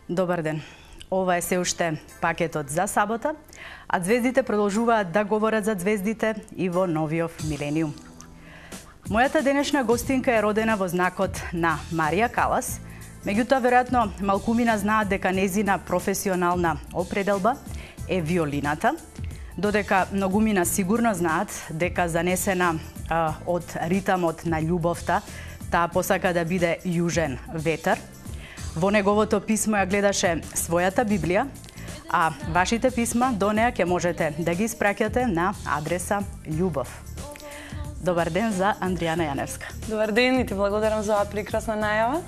Добар ден. Ова е се уште пакетот за сабота, а звездите продолжуваат да говорат за звездите и во новиот милениум. Мојата денешна гостинка е родена во знакот на Марија Калас, меѓутоа веројатно малкумина знаат дека незина професионална определба е виолината, додека многумина сигурно знаат дека занесена од ритамот на љубовта, таа посака да биде јужен ветер. Во неговото писмо ја гледаше својата Библија, а вашите писма до неа ќе можете да ги испраќате на адреса љубов. Добар ден за Андријана Јаневска. Добар ден и ти благодарам за оваа прекрасна најава.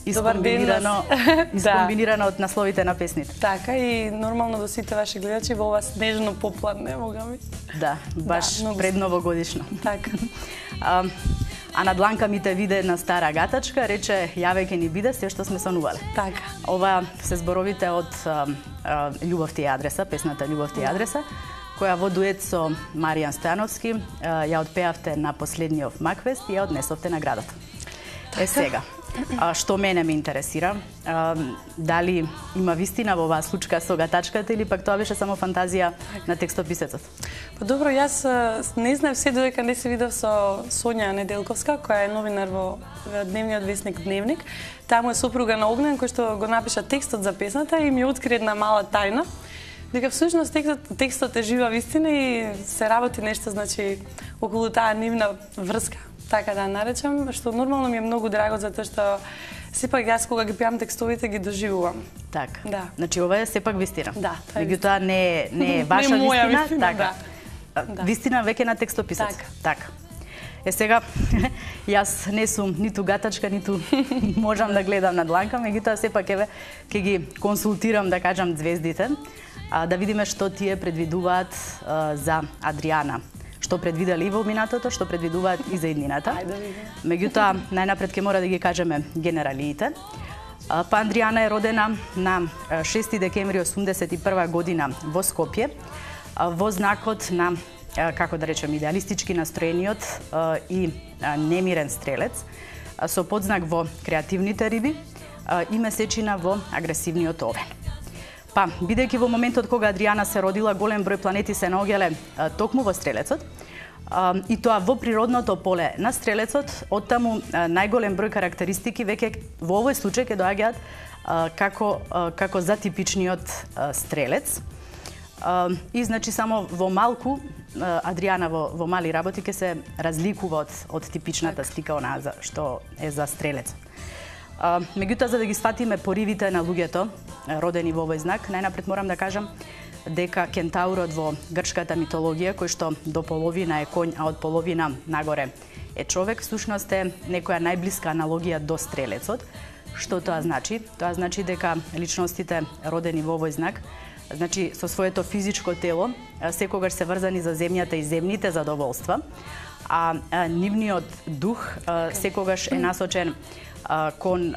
Искомбинирано од насловите на песните. Така и нормално до сите ваши гледачи во ова снежно попладне, бога ми. Да, баш предновогодишно. Така. А на дланка ми те виде една стара гатачка, рече јаве ке ни биде се што сме сонувале. Така. Ова се зборовите од Љубов ти е адреса, песната Љубов ти е адреса, која во дует со Маријан Стојановски ја отпеавте на последниот Макфест и ја однесовте наградата. Така. Сега, што мене ме интересира, дали има вистина во оваа случка со гатачката или пак тоа беше само фантазија на текстописецот? Па добро, јас не знаев се додека не се видов со Сонја Неделковска, која е новинар во дневниот весник Дневник. Таму е сопруга на Огнен, кој што го напиша текстот за песната и ми откри една мала тајна, дека всушност текстот е жива вистина и се работи нешто, значи, околу таа нивна врска, така да наречам, што нормално ми е многу драго, затоа што сепак јас кога ги пеам текстовите ги доживувам. Така. Да. Значи ова е сепак вистина. Да, тоа е. Меѓутоа не е ваша не моја вистина, така. Да. Вистина веќе на текстописец. Така. Сега јас не сум ниту гатачка, ниту можам да гледам на дланка, меѓутоа сепак еве ќе ги консултирам, да кажам, звездите, да видиме што тие предвидуваат за Адријана. Што предвидели и во минатото, што предвидуваат и за иднината. Меѓутоа, најнапред ќе мора да ги кажеме генералиите. Па Андријана е родена на 6 декември 81 година во Скопје, во знакот на, како да речем, идеалистички настроениот и немирен стрелец, со подзнак во креативните риби и месечина во агресивниот овен. Па, бидејќи во моментот кога Адријана се родила, голем број планети се наоѓале токму во стрелецот, и тоа во природното поле на стрелецот, оттаму најголем број карактеристики веќе во овој случај ќе доаѓаат како за типичниот стрелец. И значи само во малку Адријана во мали работи ќе се разликува од типичната слика онаа што е за стрелец. Меѓутоа, за да ги сватиме поривите на луѓето родени во овој знак, најнапред морам да кажам дека кентаурот во грчката митологија, кој што до половина е коњ, а од половина нагоре е човек, всушност е некоја најблиска аналогија до стрелецот. Што тоа значи? Тоа значи дека личностите родени во овој знак, значи со своето физичко тело, секогаш се врзани за земјата и земните задоволства, а нивниот дух секогаш е насочен кон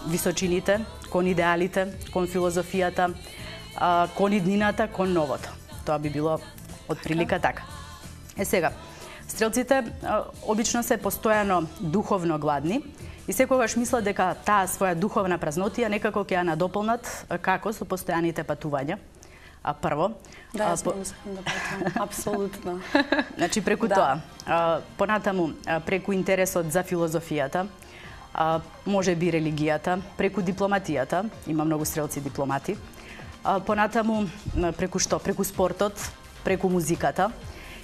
височините, кон идеалите, кон филозофијата, кон иднината, кон новото. Тоа би било од прилика така. Сега, стрелците обично се постојано духовно гладни и секогаш мислат дека таа своја духовна празнотија некако ќе ја надополнат како со постојаните патувања. Прво. Да, јас мислам да патувам, апсолутно. Значи преку тоа, понатаму преку интересот за филозофијата, може би религијата, преку дипломатијата, има многу стрелци дипломати, понатаму преку што? Преку спортот, преку музиката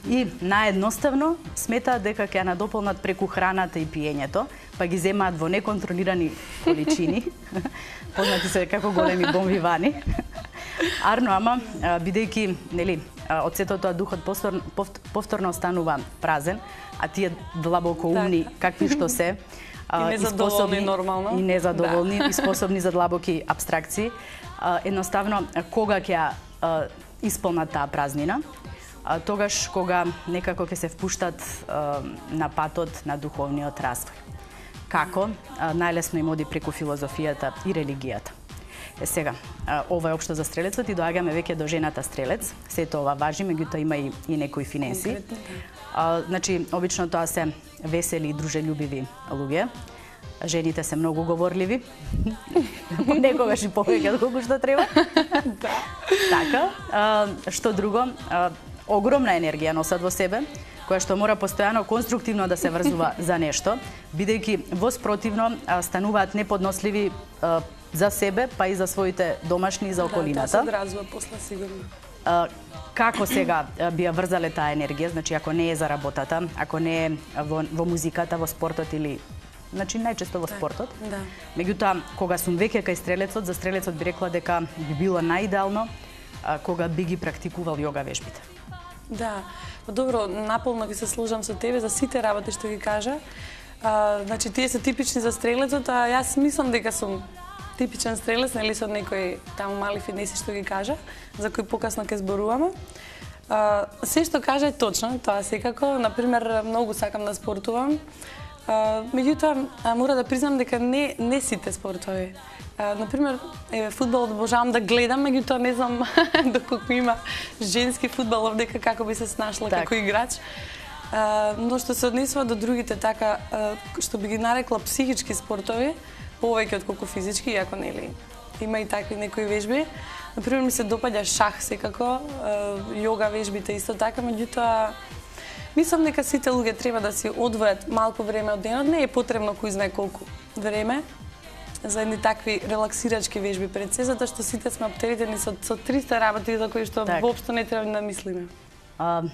и наедноставно сметаат дека ќе ја надополнат преку храната и пиењето, па ги земаат во неконтролирани количини, познати се како големи бомвивани. Арно, ама, бидејќи, нели, од сето тоа духот повторно останува празен, а тие длабокоумни, какви што се, и незадоволни нормално. И незадоволни, и способни за длабоки абстракции. Едноставно, кога ќе ја исполнат таа празнина, тогаш кога некако ќе се впуштат на патот на духовниот развој. Како? Најлесно им оди преку филозофијата и религијата. Сега, ова е општо за стрелецот и доаѓаме веќе до жената стрелец. Сето ова важи, меѓутоа има и некои финенси. Значи, обично тоа се весели и дружелюбиви луѓе. жените се многу говорливи. Некогаш и повеќе колку што треба. Да. Така, што друго, огромна енергија носат во себе, која што мора постојано конструктивно да се врзува за нешто, бидејќи во спротивно стануваат неподносливи за себе, па и за своите домашни и за околината. Да, тоа се одразува после сигурно. Како сега би ја врзале таа енергија, значи ако не е за работата, ако не е во музиката, во спортот или значи најчесто во спортот. Да. Меѓутоа, кога сум веќе кај стрелецот, за стрелецот би рекла дека би било најидеално кога би ги практикувал јога вежбите. Да. Добро, наполно ќе се сложам со тебе за сите работи што ги кажа. Значи тие се типични за стрелецот, а јас мислам дека сум типичен стрелец, нели со некои таму мали финеси што ги кажа, за кои покасно ќе зборуваме. Се што кажа е точно, тоа секако. Например, многу сакам да спортувам. Меѓутоа, мора да признам дека не сите спортови. Например, фудбал обожавам да гледам, меѓутоа не знам доколку има женски фудбал овдека како би се снашла како играч. Но што се однесува до другите така, што би ги нарекла психички спортови, повеќе отколку физички, иако нели има и такви некои вежби. Например, ми се допаѓа шах секако, јога вежбите исто така, меѓутоа мислам дека сите луѓе треба да си одвојат малку време од денот, не е потребно кој знае колку време за едни такви релаксирачки вежби пред се, затоа што сите сме оптеретени со 300 работи за кои што воопшто не треба да мислиме.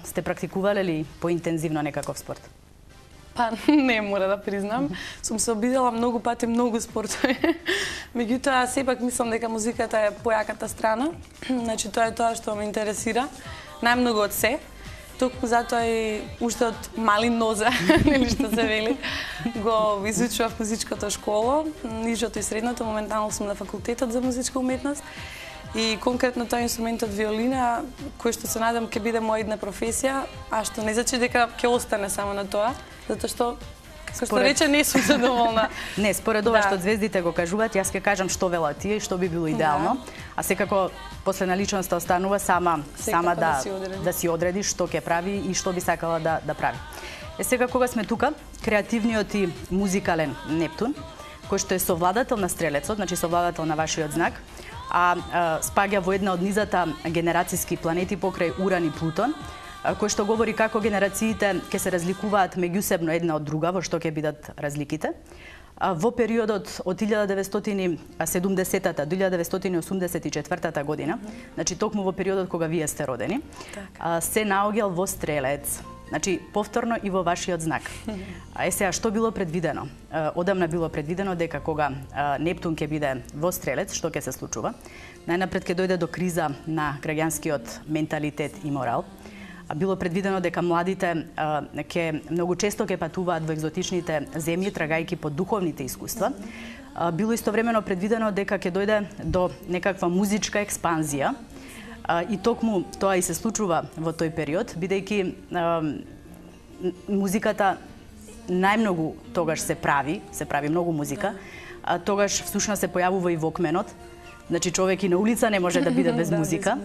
Сте практикувале ли поинтензивно некаков спорт? Па не, мора да признам. Сум се обидела многу пати многу спортови. Меѓутоа, сепак мислам дека музиката е појаката страна. Значи, тоа е тоа што ме интересира. Најмногу од се. Токму затоа и уште од мали нозе, нели што се вели, го изучував музичката школа, нижото и средното, моментално сум на факултетот за музичка уметност. И конкретно тоа инструментот виолина, кој што се надам ќе биде моја една професија, а што не значи дека ќе остане само на тоа, затоа што како што рече не сум задоволна. Не, според ова што звездите го кажуваат, јас ќе кажам што велат тие и што би било идеално, а секако после на личноста останува сама да си одреди што ќе прави и што би сакала да прави. Сега кога сме тука, креативниот и музикален Нептун, кој што е совладател на стрелецот, значи совладател на вашиот знак, спаѓа во една од низата генерацијски планети покрај Уран и Плутон, кој што говори како генерациите ќе се разликуваат меѓусебно една од друга, во што ќе бидат разликите. Во периодот од 1970-та до 1984 година, значи токму во периодот кога вие сте родени, се наоѓал во стрелец. Значи, повторно и во вашиот знак. Сега, што било предвидено? Одамна било предвидено дека кога Нептун ќе биде во стрелец, што ќе се случува? Најнапред ќе дојде до криза на граѓанскиот менталитет и морал. Било предвидено дека младите многу често ќе патуваат во екзотичните земји, трагајќи по духовните искуства. Било истовремено предвидено дека ќе дојде до некаква музичка експанзија, и токму тоа и се случува во тој период, бидејќи музиката најмногу тогаш се прави многу музика, тогаш всушност се појавува и вокменот, значи човек и на улица не може да биде без музика,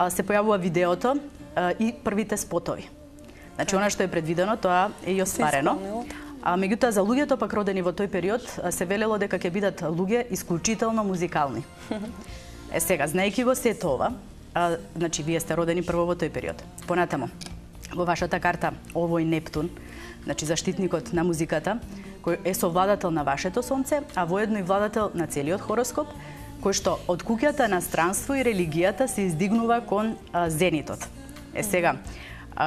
се појавува видеото и првите спотови. Значи, она што е предвидено, тоа е и остварено. Меѓутоа, за луѓето пак родени во тој период, се велело дека ќе бидат луѓе исклучително музикални. Сега, знаејќи го сето ова, значи, вие сте родени прво во тој период. Понатамо, во вашата карта, овој Нептун, значи, заштитникот на музиката, кој е совладател на вашето сонце, а воедно и владател на целиот хороскоп, кој што од куќата на странство и религијата се издигнува кон зенитот. Сега,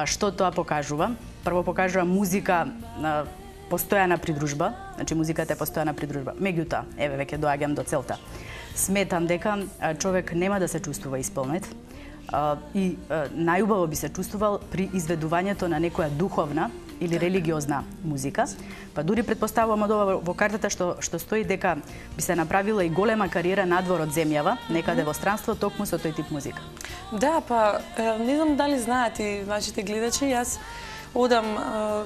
што тоа покажува? Прво покажува музика постојана придружба, значи музиката е постојана придружба. Меѓутоа, еве веќе доаѓам до целта. Сметам дека човек нема да се чувствува исполнет и најубаво би се чувствувал при изведувањето на некоја духовна или религиозна музика. Па дури предпоставувам од ова во картата што стои дека би се направила и голема кариера надвор од земјава, некаде во странство, токму со тој тип музика. Да, па не знам дали знаат и вашите гледачи, јас одам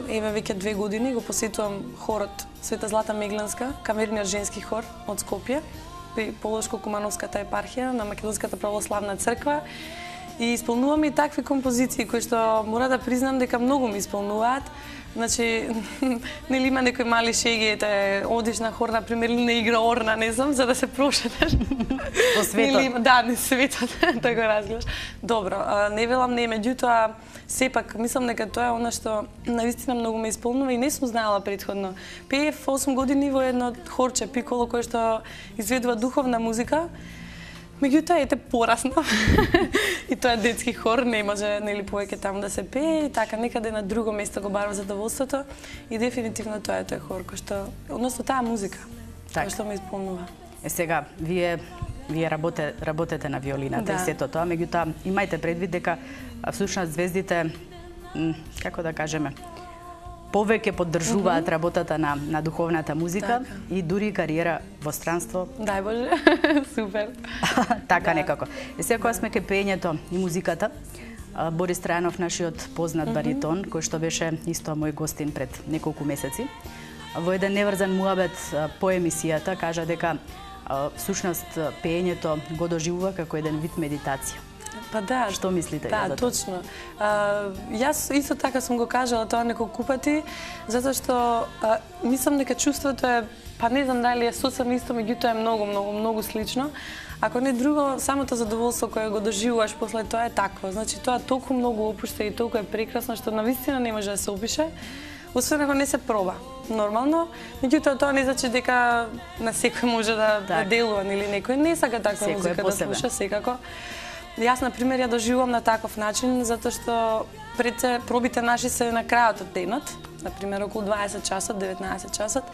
еве веќе 2 години, го посетувам хорот Света Злата Мегланска, камерниот женски хор од Скопје, при Полошко-Кумановската епархија на Македонската православна црква. И исполнувам и такви композиции кои што мора да признам дека многу ми исполнуваат. Значи, нели има некои мали шеги, одиш на хор, например, или не игра орна, не знам, за да се прошетеш. По светот. Да, не светот, да го разгледаш. Добро, не велам не, меѓутоа, сепак, мислам дека тоа е она што наистина многу ме исполнува и не сум знаела претходно. Пеев 8 години во едно хорче пиколо кое што изведува духовна музика. Меѓутоа, ете, пораснав. И тоа е детски хор, не може нели повеќе таму да се пее, и така некаде на друго место го барам задоволството. И дефинитивно тоа е тој хор кој што, односно таа музика, која што ме исполнува. Сега, вие работете на виолината и сето тоа, меѓутоа имајте предвид дека всушност звездите, како да кажеме, повеќе поддржуваат работата на духовната музика и дури кариера во странство. Дај Боже, супер. Така некако. И сега кога сме кај пеењето и музиката, Борис Трајанов, нашиот познат баритон, кој што беше исто мој гостин пред неколку месеци, во еден неврзан муабет по емисијата кажа дека всушност пеењето го доживува како еден вид медитација. Па да. Што мислите? Да, точно. Јас исто така сум го кажала тоа неколку пати, затоа што мислам дека чувството е, па не знам дали е сосем исто, меѓутоа е многу слично. Ако не друго, самото задоволство кое го доживуваш после тоа е такво. Значи тоа толку многу опушта и толку е прекрасно што навистина не може да се опише, освен ако не се проба. Нормално, меѓутоа тоа не значи дека на секој може да делува или некој не сака таква музика да слуша, секако. Јас, например, ја доживувам на таков начин, затоа што пред пробите наши се на крајот од денот, например, околу 20 часот, 19 часот.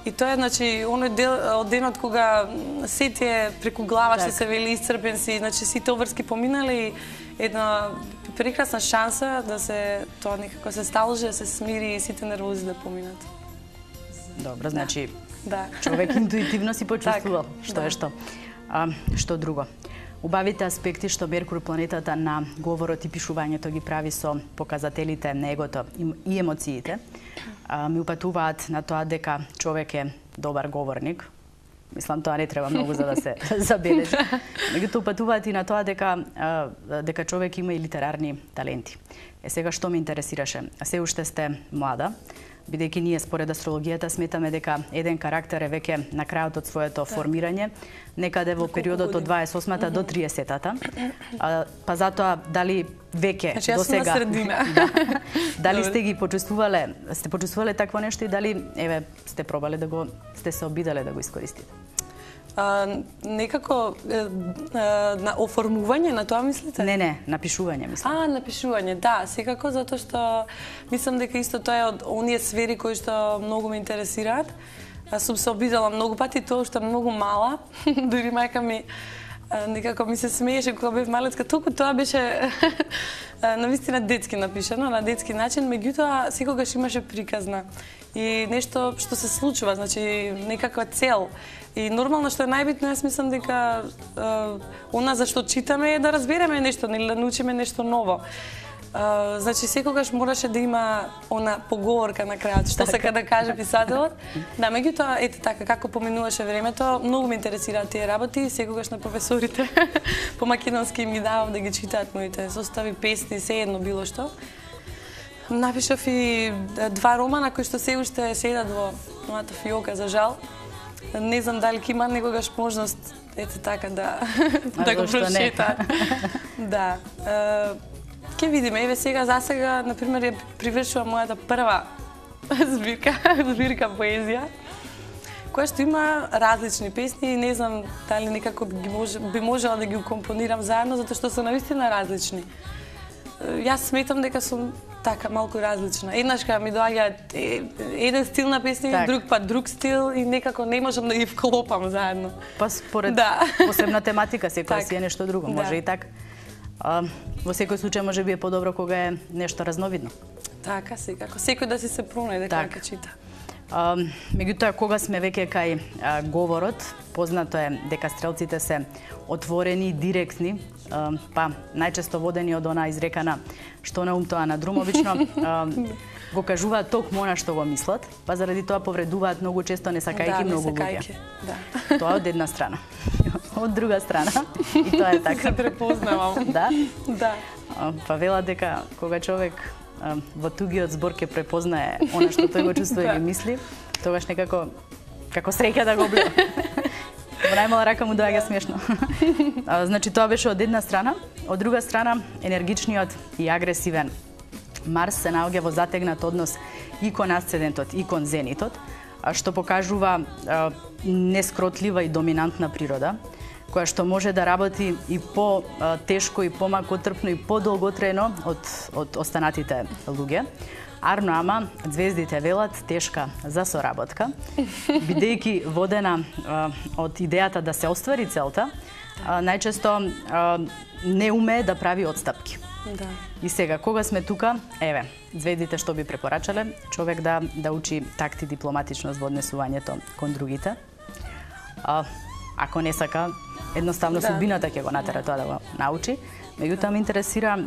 И тоа е, значи, оној дел од денот кога се ти е преку глава, што се вели исцрпен си, значи сите обврски поминале и една прекрасна шанса да се тоа некако се сталже, да се смири и сите нервози да поминат. Добро, значи, човек интуитивно си почувствувал што е што. Што друго? Убавите аспекти што Меркур, планетата на говорот и пишувањето, ги прави со показателите на егото и емоциите, ми упатуваат на тоа дека човек е добар говорник. Мислам, тоа не треба многу за да се забележи. Меѓутоа упатуваат и на тоа дека човек има и литерарни таленти. Сега што ме интересираше? Се уште сте млада, бидејќи ние според астрологијата сметаме дека еден карактер е веќе на крајот од своето формирање, некаде во периодот од 28-та до 30-та. Па затоа дали веќе до сега дали сте ги почувствувале такво нешто и дали сте пробале сте се обидале да го искористите? Некако на оформување на тоа мислите? Не, на пишување мислам. На пишување, да, секако, затоа што мислам дека исто тоа е од оние сфери кои што многу ме интересираат. Сум се обидала многу пати тоа што многу мала, дури мајка ми некако ми се смееше кога бев малецка, толку тоа беше навистина детски напишано, на детски начин, меѓутоа секогаш имаше приказна и нешто што се случува, значи некаква цел. И нормално што е најбитно, јас мислам дека она за што читаме е да разбереме нешто, или да научиме нешто ново. Значи секогаш мораше да има она поговорка на крајот, што сака да каже писателот. Да, меѓутоа, ете така, како поминуваше времето, многу ме интересираат тие работи, секогаш на професорите по македонски им ги давам да ги читаат моите состави, песни, сеедно било што. Напишав и 2 романа кои што се уште седат во мојата фиока, за жал. Не знам дали ќе има некогаш можност, ете така, да го прочитаат. Да. Ке видиме, еве сега, за сега, например, ја привршува мојата прва збирка поезија, која што има различни песни и не знам дали некако би можела да ги компонирам заедно, затоа што се навистина различни. Јас сметам дека сум така малку различна. Еднаш кога ми доаѓа еден стил на песни, друг пат друг стил и некако не можам да ги вклопам заедно. Па според посебна тематика секоја си е нешто друго, може и така. Во секој случај може би е подобро кога е нешто разновидно. Така, секако. Секој да си се пронајде кога ќе чита. Меѓутоа, кога сме веќе кај говорот, познато е дека стрелците се отворени, директни, па најчесто водени од она изрекана што на ум тоа на друм, обично го кажуваат токму она што го мислат, па заради тоа повредуваат многу често не сакајќи многу луѓе. Тоа од една страна. Од друга страна, и тоа е така. Се препознавам. Да? Да. Па велат дека кога човек во тугиот збор ќе препознае она што тој го чувствува или мисли, тогаш некако како среќа да го обле. Во најмала рака му доаѓа смешно. Значи тоа беше од една страна, од друга страна енергичниот и агресивен Марс се наоѓа во затегнат однос и кон асцендентот и кон зенитот, што покажува нескротлива и доминантна природа, која што може да работи и по-тешко и помакотрпно и подолготрајно од останатите луѓе. Арно ама, звездите велат тешка за соработка, бидејќи водена од идејата да се оствари целта, најчесто не умее да прави отстапки. Да. И сега, кога сме тука, еве, звездите што би препорачале, човек да учи такт и дипломатичност во однесувањето кон другите. Ако не сака, едноставно судбината ќе го натера тоа да го научи. Меѓутоа ме интересира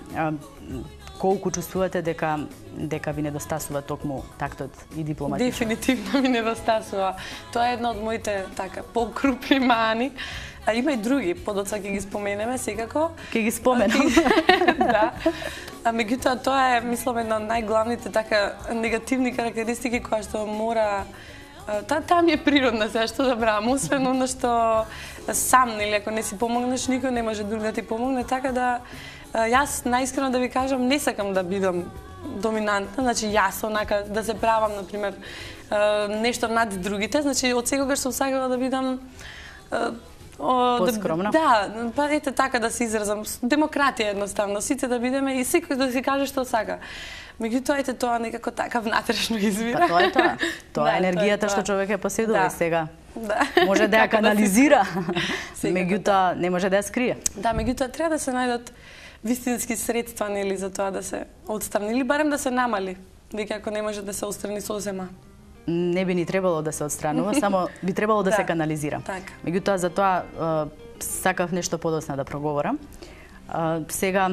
колку чувствувате дека ви недостасува токму тактот и дипломатичност. Дефинитивно ми недостасува. Тоа е една од моите покрупни мани. А има и други, подоцна ќе ги споменеме секако. Ќе ги споменам. Да. А меѓутоа тоа е, мислам, една од најглавните негативни карактеристики која што мора таа ми е природна, сега што да брам, освен оно што сам, нели, ако не си помогнеш, никој не може друг да ти помогне, така да јас најискрено да ви кажам, не сакам да бидам доминантна, значи јас онака да се правам, например, нешто над другите, значи од секогаш сум сакала да бидам поскромна. Да, па ете така да се изразам, демократија едноставно, сите да бидеме и секој да си каже што сака. Меѓутоа, ете тоа некако така внатрешно извира. Па тоа е тоа. Тоа е енергијата што човек ја поседува и сега. Да. Може да ја канализира, меѓутоа не може да ја скрие. Да, меѓутоа треба да се најдат вистински средства, нели, за тоа да се отстрани или барем да се намали, веќе ако не може да се отстрани сосема. Не би ни требало да се отстранува, само би требало да се канализира. Така. Меѓутоа, за тоа сакав нешто подоцна да проговорам. Сега,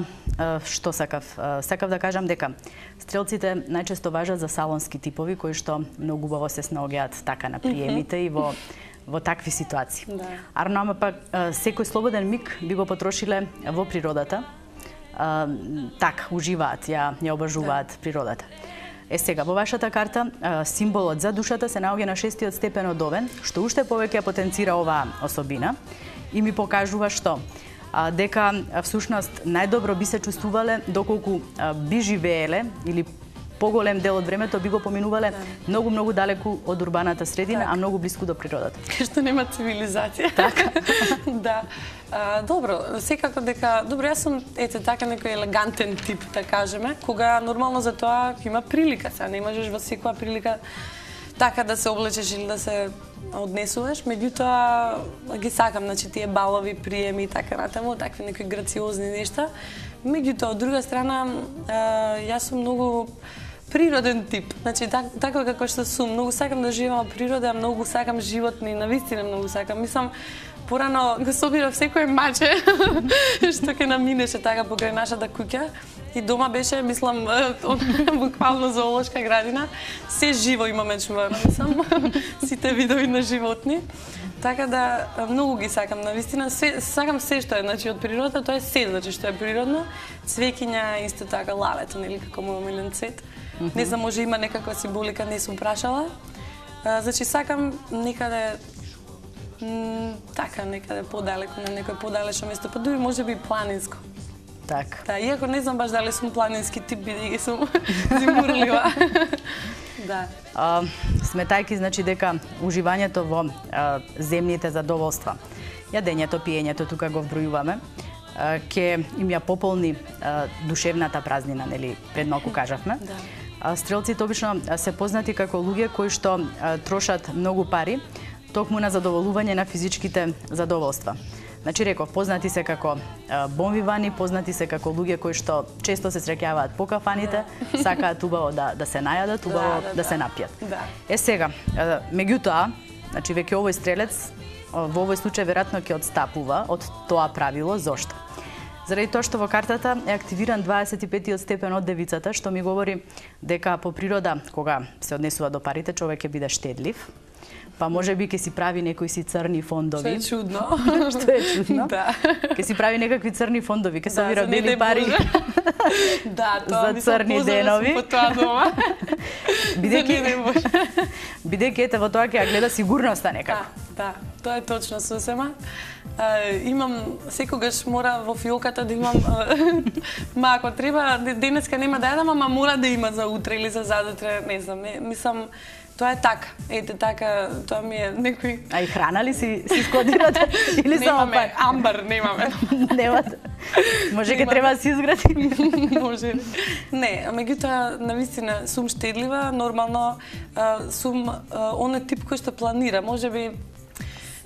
што сакав? Сакав да кажам дека стрелците најчесто важат за салонски типови, кои што многу убаво се снаоѓаат така на приемите и во такви ситуации. Да. Арно, ама пак, секој слободен миг би го потрошиле во природата. Так, уживаат, ја обажуваат природата. Сега, во вашата карта, символот за душата се наоѓа на 6-тиот степен од Овен, што уште повеќе потенцира оваа особина и ми покажува што? Дека всушност најдобро би се чувствувале доколку би живееле или поголем дел од времето би го поминувале многу далеку од урбаната средина, а многу блиску до природата. Кај што нема цивилизација. Така. Да. Добро, секако дека... Добро, јас сум, ете, така некој елегантен тип, да кажеме, кога нормално за тоа има прилика, сега не можеш во секоја прилика така да се облечеш или да се однесуваш, меѓутоа ги сакам, значи тие балови приеми и така натаму, такви некои грациозни нешта. Меѓутоа, од друга страна, јас сум многу природен тип. Значи, така како што сум, многу сакам да живеам во природа, многу сакам животни, навистина многу сакам. Мислам, порано го собирав секој маче што ќе наминеше така покрај нашата куќа и дома беше, мислам, буквално зоолошка градина. Се живо имаме чувано, мислам, сите видови на животни. Така да многу ги сакам, навистина, сакам се што е, значи од природата, тоа е се, значи што е природно. Цвеќиња исто така, лавето, нели, како мој омилен цвет. Не знам, може има некаква символика, не сум прашала. Значи сакам некаде така, некаде подалеку, на некој подалечно место, па дури може би планинско. Така. Да, иако не знам баш дали сум планински тип, бидејќи сум зимурлива. Да. Сметајки, значи, дека уживањето во земните задоволства, јадењето, пиењето, тука го вбројуваме, ќе им ја пополни душевната празнина, нели, пред малку кажавме. Да. Стрелците обично се познати како луѓе кои што трошат многу пари токму на задоволување на физичките задоволства. Значи, реков, познати се како бонвивани, познати се како луѓе кои што често се среќаваат по кафаните, сакаат убаво да се најадат, убаво да се напијат. Сега, меѓутоа, значи, веќе овој стрелец во овој случај веројатно ќе одстапува од тоа правило. Зошто? Заради тоа што во картата е активиран 25-тиот степен од девицата, што ми говори дека по природа, кога се однесува до парите, човек ќе биде штедлив. па може би ќе си прави некои си црни фондови. Што е чудно. Што е чудно. Да. Ќе си прави некакви црни фондови, ќе собира бели пари. Да, тоа за црни денови. По тоа дома. Бидејќи ете во тоа ќе ја гледа сигурноста некако. Да, тоа е точно сосема. Имам секогаш мора во фиоката да имам ако треба денеска нема да јадам, ама мора да има за утре или за задутре, не знам, мислам тоа е така. Ете така, тоа ми е некој. А и храна ли си складирате или само пари? Амбар немаме. Немате. Може ќе треба да си изгради. Може. Не, меѓутоа навистина сум штедлива, нормално сум оној тип кој што планира, можеби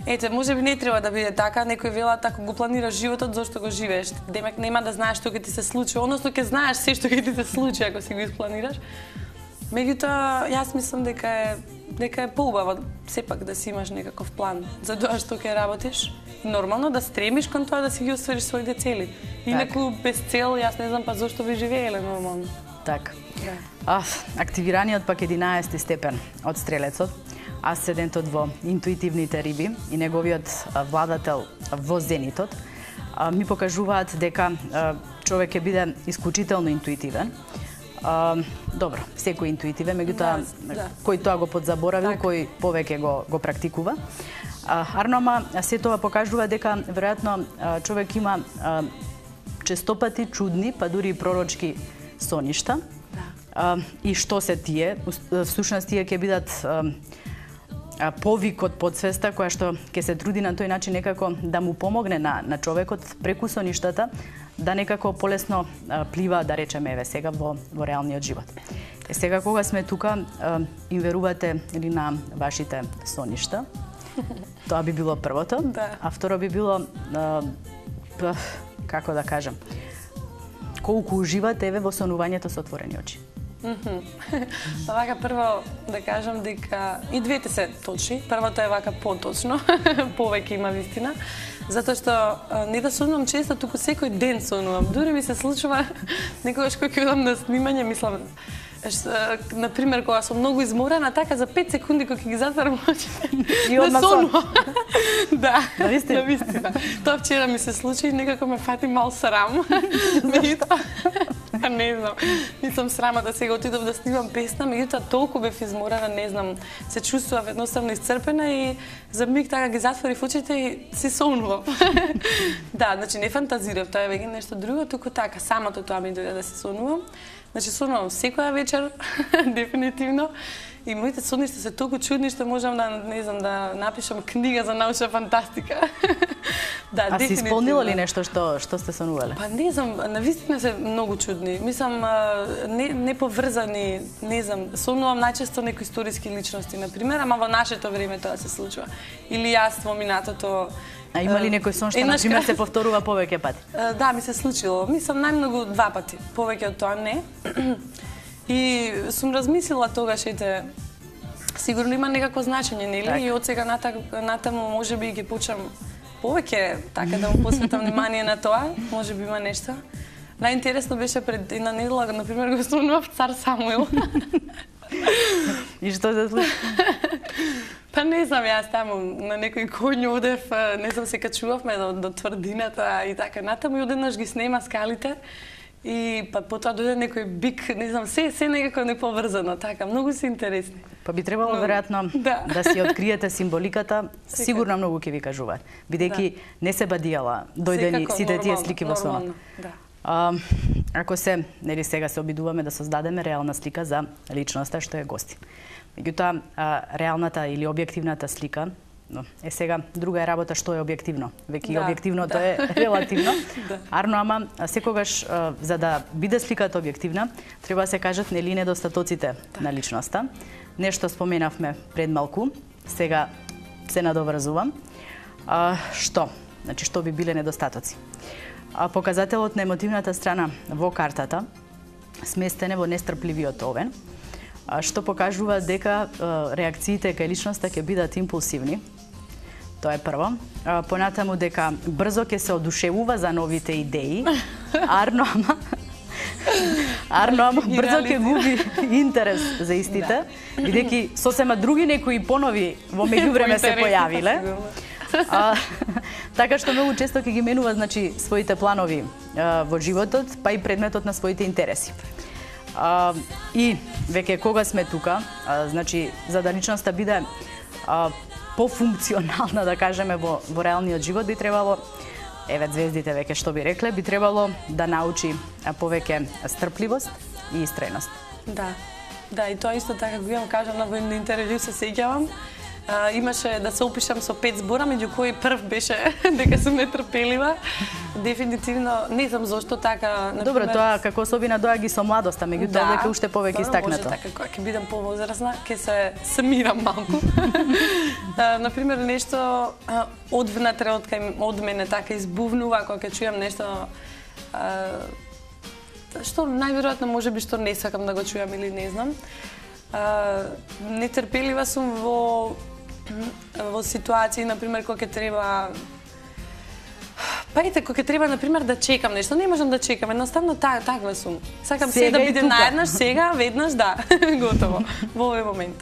не треба да биде така, некој велат ако го планираш животот, зошто го живееш? Демек нема да знаеш што ќе ти се случи, односно ќе знаеш се што ќе ти се случи ако си го испланираш. Меѓутоа, јас мислам дека е поубаво сепак да си имаш некаков план за тоа што ќе работиш. Нормално да стремиш кон тоа да си ги оствариш своите цели. Инаку без цел, јас не знам па зошто би живееле нормално. Така. Активираниот пак 11 степен од стрелецот, асцендентот во интуитивните риби и неговиот владател во зенитот, ми покажуваат дека човек ќе биде исклучително интуитивен. Добро, секој интуитивен, меѓутоа кој тоа го подзаборавил, кој повеќе го практикува. Ама се тоа покажува дека веројатно човек има честопати чудни, па дури и пророчки соништа. И што се тие? Всушност тие ќе бидат повик од подсвеста која што ќе се труди на тој начин некако да му помогне на човекот преку соништата да некако полесно плива, да речеме, еве сега во реалниот живот. Сега кога сме тука, им верувате ли на вашите соништа? Тоа би било првото. А второ би било, како да кажам, колку уживате еве во сонувањето со отворени очи? Вака прво да кажам дека и двете се точни. Првото е вака поточно, повеќе има вистина. Затоа што не да сонувам често, туку секој ден сонувам. Дури ми се случува некогаш кога ќе одам на снимање, мислам, например, кога сум многу изморена, така за 5 секунди кога ќе ги затварам очите, да сонувам. Да, навистина. Тоа вчера ми се случи и некако ме фати мал срам. Не знам, нисам срама да сега отидов да снимам песна, меѓутоа толку бев изморена, не знам, се чувствував едноставно исцрпена и за миг така ги затворив очите и си сонував. Да, значи не фантазирав, тоа е веќе нешто друго, туку така, самото тоа ми дојде да се сонувам. Значи сонувам секоја вечер, дефинитивно. И моите соништа се толку чудни што можам да, не знам, да напишам книга за научна фантастика. Да, а си исполнила ли нешто што сте сонувале? Па не знам, навистина се многу чудни. Мислам, не поврзани, не знам, сонувам најчесто некои историски личности, например, ама во нашето време тоа се случува. Или јас во минатото. А има ли некој сон што, например, се повторува повеќе пати? Да, ми се случило. Мислам, најмногу 2 пати. Повеќе од тоа не. И сум размислила тогаш, сигурно има некакво значење, нели? И од сега натаму можеби ги почнам повеќе така да му посветам внимание на тоа, можеби има нешто. Најинтересно беше пред една недела, например, го сонував цар Самуил. И што се случи? Па не знам, јас таму на некој коњ одев, не знам, се качувавме до тврдината и така натаму и одеднаш ги снема скалите. И па потоа дојде некој бик, не знам, се некако неповрзано, така, многу се интересни. Па би требало веројатно да си откриете символиката, сигурно многу ќе ви кажуваат, бидејќи не се бадијала дојдени сите тие слики во сонот. Ако се, нели сега се обидуваме да создадеме реална слика за личноста што е гости. Меѓутоа, реалната или објективната слика, сега друга е работа што е објективно. Веќе објективното е релативно. Ама секогаш за да биде сликата објективна, треба да се кажат нели недостатоците на личноста. Нешто споменавме пред малку, сега се надоврзувам. Што? Значи што би биле недостатоци? Показателот на емотивната страна во картата сместене во нестрпливиот овен, што покажува дека реакциите кај личноста ќе бидат импулсивни. Тоа е прво. Понатаму дека брзо ќе се одушевува за новите идеи, ама Арно, ама брзо ќе губи интерес за истите, бидејќи сосема други некои понови во меѓувреме се појавиле. Така што многу често ќе ги менува, значи, своите планови во животот, па и предметот на своите интереси. И веќе кога сме тука, значи, за да личноста биде пофункционална, да кажеме, во реалниот живот, би требало, еве звездите веќе што би рекле, би требало да научи повеќе стрпливост и истрајност. Да, и тоа исто така го имам, кажам на војно интервју, се сеќавам. Имаше да се опишам со 5 збора, меѓу кои прв беше дека сум нетрпелива. Дефинитивно, не знам зошто така, например... Добро, тоа како особина доаѓа со младоста, меѓутоа дека уште повеќе истакнато. Да, може така, кога ќе бидам повозрасна, ќе се самирам малку. Например, нешто од внатре, од мене така избувнува, кога ќе чујам нешто што најверојатно можеби што не сакам да го чујам или не знам. Нетрпелива сум во ситуации, например, кога ќе треба... Кога ќе треба, например, да чекам нешто, не можам да чекам, едноставно таква сум. Сакам се да биде наеднаш, сега, веднаш, да, готово, во овој момент.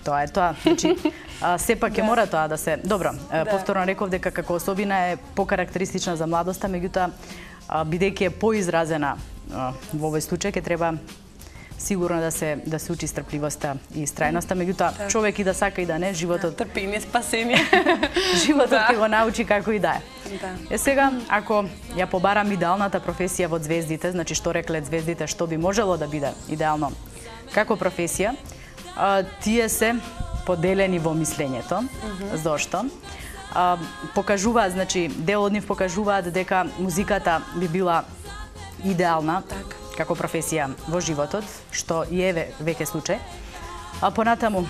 Тоа е тоа. Значи, сепак ќе мора тоа да се... Добро, повторно реков дека како особина е покарактеристична за младоста, меѓутоа, бидејќи е поизразена во овој случај, ќе треба сигурно да се учи стрпливоста и истрајноста, меѓутоа човек и да сака и да не, животот трпение, спасение. Животот ќе го научи како и да е. Сега, ако ја побарам идеалната професија во звездите, значи што рекле звездите, што би можело да биде идеално како професија, тие се поделени во мислењето. Зошто? Покажуваат, значи дел од нив покажуваат дека музиката би била идеална како професија во животот, што и е веќе случај. Понатаму,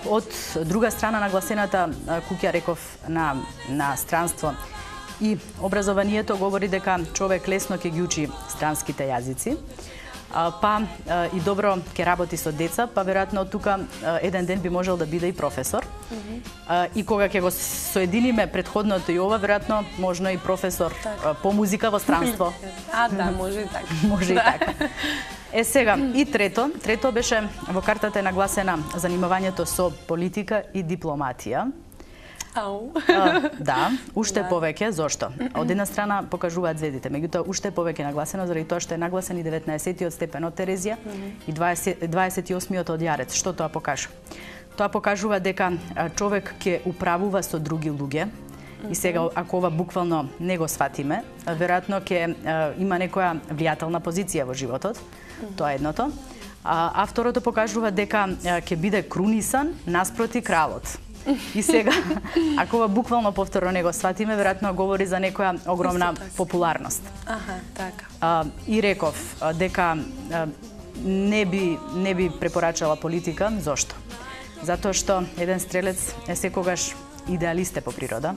од друга страна нагласената куќа, реков, на странство и образованието говори дека човек лесно ќе ги учи странските јазици, па и добро ќе работи со деца, па веројатно тука еден ден би можел да биде и професор. И кога ќе го соединиме предходното и ова, веројатно можно и професор по музика во странство. Да, може и така. Може и така. Сега, и трето беше во картата е нагласена занимавањето со политика и дипломатија. Да, уште повеќе, зошто? Од една страна покажуваат звездите, меѓутоа уште повеќе нагласено заради тоа што е нагласен и 19-тиот степен од Терезија и 28-тиот од Јарец. Што тоа покажува? Тоа покажува дека човек ќе управува со други луѓе. И сега, ако ова буквално не го сватиме, веројатно ќе има некоја влијателна позиција во животот. Тоа е едното. А второто покажува дека ќе биде крунисан наспроти кралот. И сега, ако ова буквално повторно не го сватиме, веројатно говори за некоја огромна популарност. Така. И реков дека не би препорачала политика. Зошто? Затоа што еден стрелец е секогаш идеалисте по природа.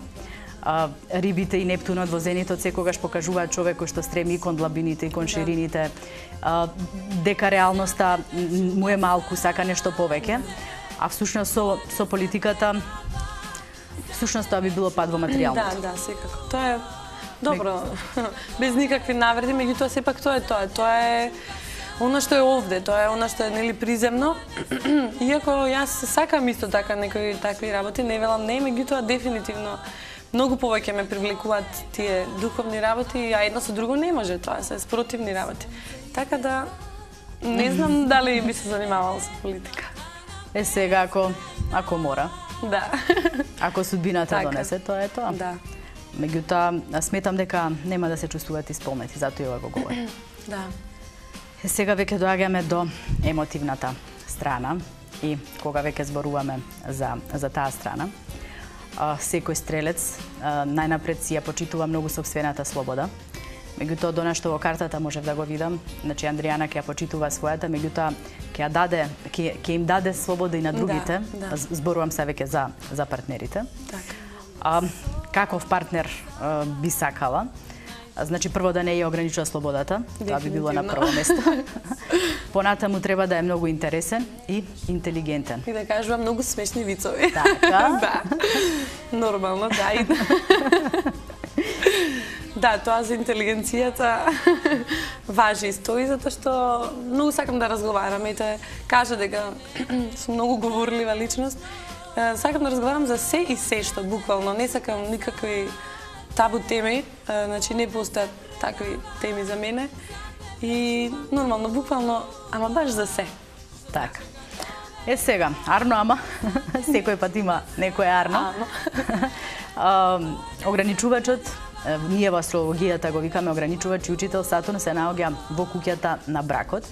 Рибите и Нептунот во зенитот секогаш покажуваат човек кој што стреми кон длабините и кон ширините, дека реалноста му е малку, сака нешто повеќе. А всушност со политиката, всушност тоа би било пад во материјалното. Да, секако. Тоа е добро, без никакви навреди, меѓутоа сепак тоа е тоа. Тоа е она што е овде, тоа е она што е нели приземно. Иако јас сакам исто така некои такви работи, не велам не, меѓутоа дефинитивно многу повеќе ме привлекуваат тие духовни работи, а едно со друго не може, тоа се спротивни работи. Така да не знам дали би се занимавала со политика. Сега, ако мора. Да. Ако судбината донесе, тоа е тоа. Да. Меѓутоа, сметам дека нема да се чувствуваат исполнети, затоа и ова го говори. Да. Сега веќе доаѓаме до емотивната страна и кога веќе зборуваме за таа страна, секој стрелец најнапред си ја почитува многу сопствената слобода. Меѓутоа, до нешто во картата можев да го видам, значи Андријана ќе ја почитува својата, меѓутоа ќе им даде слобода и на другите. Зборувам се веќе за партнерите. Каков партнер би сакала? Значи, прво да не ја ограничува слободата, тоа би било на прво место. Понатаму треба да е многу интересен и интелигентен. И да кажува многу смешни вицови. Така? Да. Нормално, да. Да, тоа за интелигенцијата важи и стои, затоа што многу сакам да разговарам. Ете, кажа дека сум многу говорлива личност. Сакам да разговарам за се и се што, буквално. Не сакам никакви табу теми, значи не постојат такви теми за мене. И нормално, буквално, ама баш за се. Така. Сега, арно, ама, секој пат има некој арно. Ограничувачот, ние во астрологијата го викаме ограничувач и учител Сатурн се наоѓа во куќата на бракот.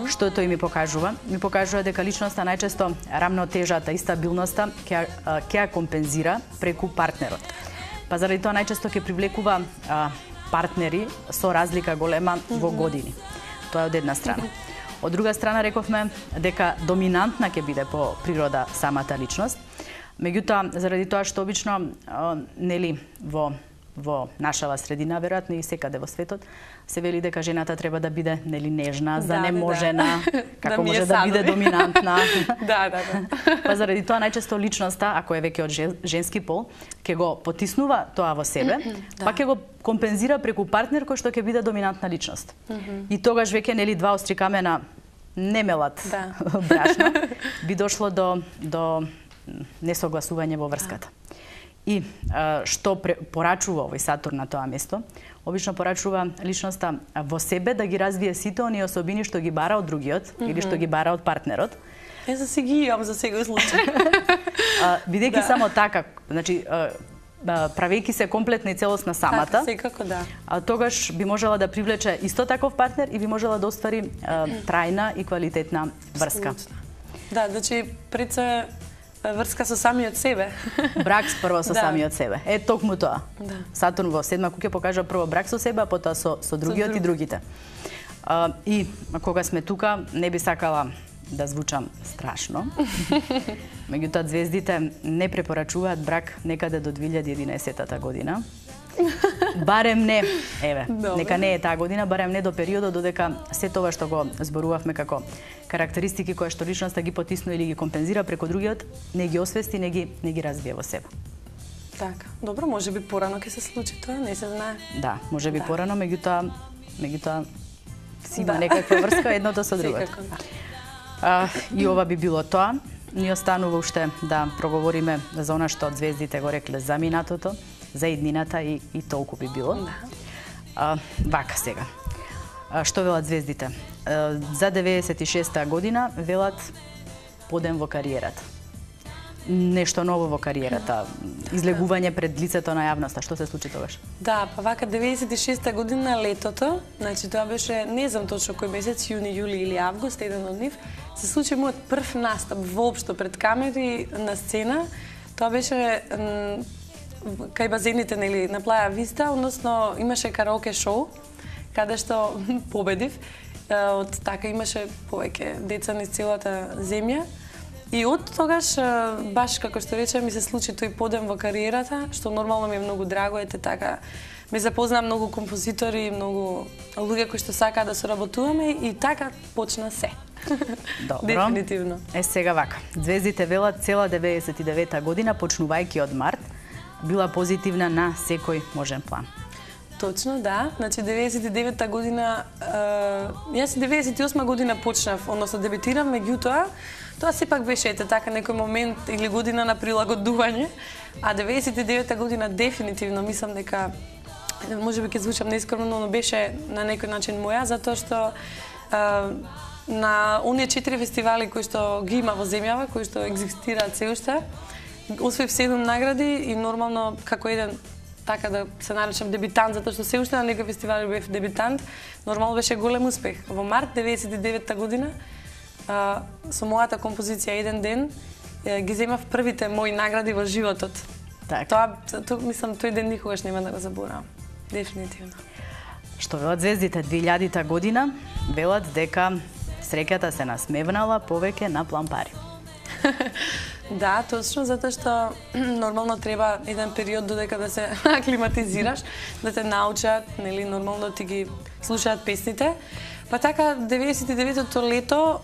Што тој ми покажува? Ми покажува дека личноста најчесто рамнотежата и стабилноста ќе ја компензира преку партнерот. Па заради тоа најчесто ќе привлекува партнери со разлика голема во години. Тоа е од една страна. Од друга страна рековме дека доминантна ќе биде по природа самата личност. Меѓутоа, заради тоа што обично нели во нашава средина, веројатно и секаде во светот, се вели дека жената треба да биде нели нежна, занеможена, како може да биде доминантна. Да. Па заради тоа најчесто личноста, ако е веќе од женски пол, ќе го потиснува тоа во себе, па ќе го компензира преку партнер кој што ќе биде доминантна личност. И тогаш веќе нели два остри камена не мелат брашно, би дошло до несогласување во врската. И што порачува овој Сатурн на тоа место? Обично порачува личноста во себе да ги развие сите оние особини што ги бара од другиот или што ги бара од партнерот. За си ги имам за секој случај. Бидејќи само така, значи правејќи се комплетна и целосна самата, така, секако да. Тогаш би можела да привлече исто таков партнер и би можела да оствари трајна и квалитетна врска. Да, значи пред се врска со самиот себе. Брак прво со самиот себе. Е токму тоа. Сатурн во седма куќа покажа прво брак со себе, а потоа со другиот и другите. И кога сме тука, не би сакала да звучам страшно. Меѓутоа звездите не препорачуваат брак некаде до 2011 година. Барем не, нека не е таа година, барем не до периодот додека се тоа што го зборувавме како карактеристики кои што личноста ги потиснува или ги компензира преку другиот, не ги освести, не ги развие во себе. Така, добро, можеби порано ќе се случи тоа, не се знае. Да, можеби порано, меѓутоа си има некаква врска едното со другото. И ова би било тоа. Ни останува уште да проговориме за она што звездите го рекле за минатото, за иднината и толку би било. Вака сега. Што велат звездите? За 96-та година велат подем во кариерата. Нешто ново во кариерата, излегување пред лицето на јавноста. Што се случи тогаш? Да, па вака 96-та година летото, значи тоа беше, не знам точно кој месец, јуни, јули или август, еден од нив, се случи мојот прв настап воопшто пред камери на сцена. Тоа беше кај базените, нели, на Плаја Виста, односно имаше караоке шоу, каде што победив. Од така имаше повеќе деца низ целата земја. И од тогаш, баш како што рече, ми се случи тој подем во кариерата, што нормално ми е многу драго, ете така. Ме запознаа многу композитори, многу луѓе кои што сакаат да соработуваме и така почна се. Добро. Дефинитивно. Сега вака. Звездите велат цела 99-та година, почнувајќи од март, била позитивна на секој можен план. Точно, да. Значи, 99-та година, јас 98 година почнав, односно дебютирам, меѓутоа, тоа сепак беше така некој момент или година на прилагодување, а 99-та година дефинитивно мислам дека, можеби ќе звучам нескромно, но беше на некој начин моја, затоа што на оние 4 фестивали кои што ги има во земјава, кои што екзистираат се уште, освоив 7 награди и нормално како еден така да се наречам дебютант, затоа што се уште на некој фестивал бев дебютант, нормално беше голем успех. Во март 99-та година со мојата композиција Еден ден ги земав првите мои награди во животот. Тоа мислам тој ден никогаш нема да го заборавам. Дефинитивно. Што велат звездите 2000-та година, велат дека среќата се насмевнала повеќе на плампари. Да, точно, затоа што нормално треба еден период додека да се аклиматизираш, да те научат, нели, нормално да ти ги слушаат песните. Па така, 99-то лето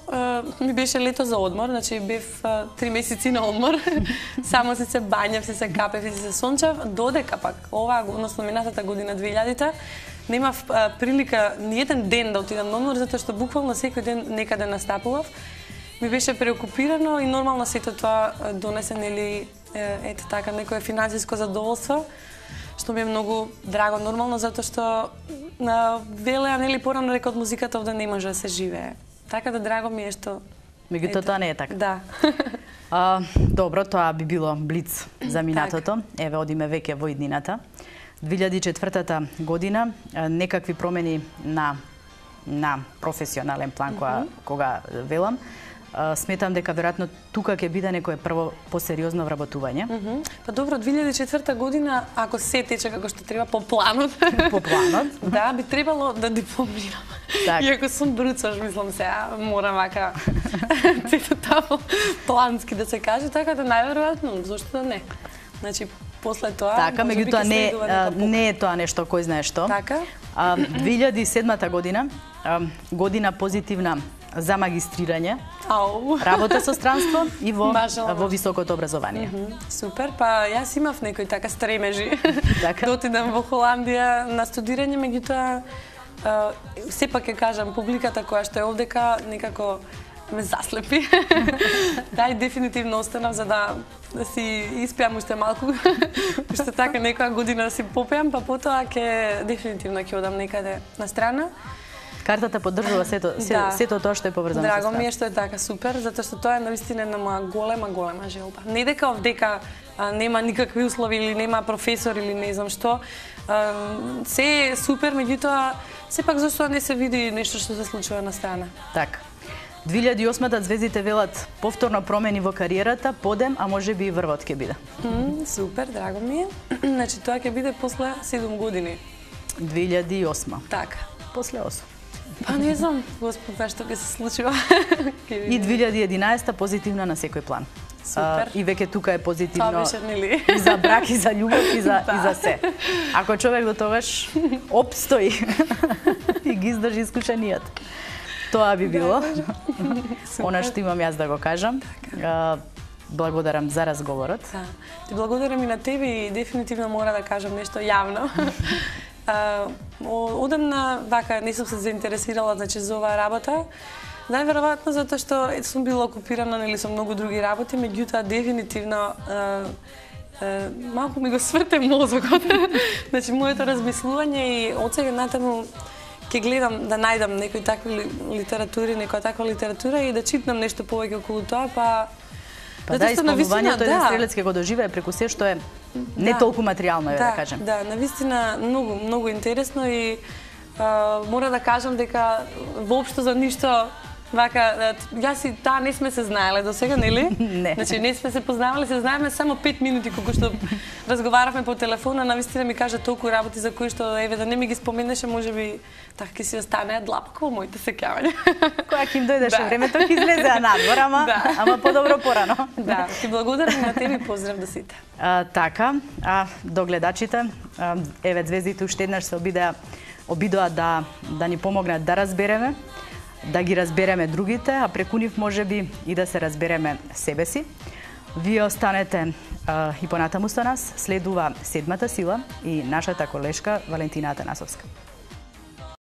ми беше лето за одмор, значи бев 3 месеци на одмор. Само се бањав, се капев и се сончав, додека пак оваа, односно минатата година 2000-та, немав прилика ни еден ден да отидам на одмор, затоа што буквално секој ден некаде настапував. Ми беше преокупирано и нормално сето тоа донесе, нели, ете така, некое финансиско задоволство, што ми е многу драго, нормално, затоа што велеа, нели, порано река од музиката овде не може да се живее. Така да драго ми е што... Меѓутоа тоа не е така. Да. Добро, тоа би било блиц за минатото. Еве, одиме веќе во иднината. 2004 година, некакви промени на професионален план, кога велам, сметам дека веројатно тука ќе биде некое прво посериозно вработување. Па добро, 2004 година, ако се тече како што треба по планот, да, би требало да дипломирам. Иако сум бруцаш, мислам се, морам вака цето тамо плански да се каже, така да најверојатно, зошто да не. Значи, после тоа... Така, меѓутоа не е тоа нешто кој знае што. Така. 2007 година, година позитивна за магистрирање, работа со странство и во високото образование. Супер, па јас имав некои така стремежи да отидам во Холандија на студирање, меѓутоа сепак ќе кажам, публиката која што е овдека некако ме заслепи. Да, и дефинитивно останав за да си испеам уште малку, уште така некоја година да си попеам, па потоа дефинитивно ќе одам некаде на страна. Картата поддржува сето тоа што е поврзано со страна. Драго ми е што е така супер, затоа што тоа е навистина една моја голема желба. Не дека овдека нема никакви услови или нема професор или не знам што, се е супер, меѓутоа сепак зашто не се види нешто што се случува на страна. Така. 2008-та звездите велат повторно промени во кариерата, подем, а можеби и врвот ќе биде. Супер, драго ми е. Значи тоа ќе биде после 7 години. 2008. Така. После 8. Па не знам, Господ, што ќе се случува. И 2011 позитивна на секој план. Супер. И веќе тука е позитивно. Тоа беше, нели? И за брак, и за љубов, и за се. Ако човек до тогаш обстои и ги издржи искушенијата. Тоа би било. Она што имам јас да го кажам. Благодарам за разговорот. Ти благодарам и на тебе и дефинитивно мора да кажам нешто јавно. Одамна, вака, не сум се заинтересирала, значи, за оваа работа. Најверојатно затоа што сум била окупирана, нели, со многу други работи, меѓутоа дефинитивно малку ми го сврте мозокот. Значи, моето размислување и од сега натаму ќе гледам да најдам некои такви литератури, некоја таква литература и да читнам нешто повеќе околу тоа, па да, исполнувањето еден стрелец ќе го доживее преку се што е не толку материјално, да кажем. Да, навистина многу интересно и мора да кажам дека воопшто за ништо вака, јас и таа не сме се знаеле до сега, нели? Не. Значи не сме се познавале, се знаеме само 5 минути кога што разговаравме по телефона, навистина ми кажа толку работи за кои што еве да не ми ги споменеше, можеби така ќе си останеа длапко во моите сеќавања. Кога ќе им дојдеше времето ќе излезеа надвор, ама подобро порано. Да, ти благодарам на тебе и поздрав до сите. Така, до гледачите, еве звездите уште еднаш се обидоа да ни помогнат да разбереме, да ги разбереме другите, а преку нив можеби и да се разбереме себе си. Вие останете и понатаму со нас, следува Седмата сила и нашата колешка Валентина Атанасовска.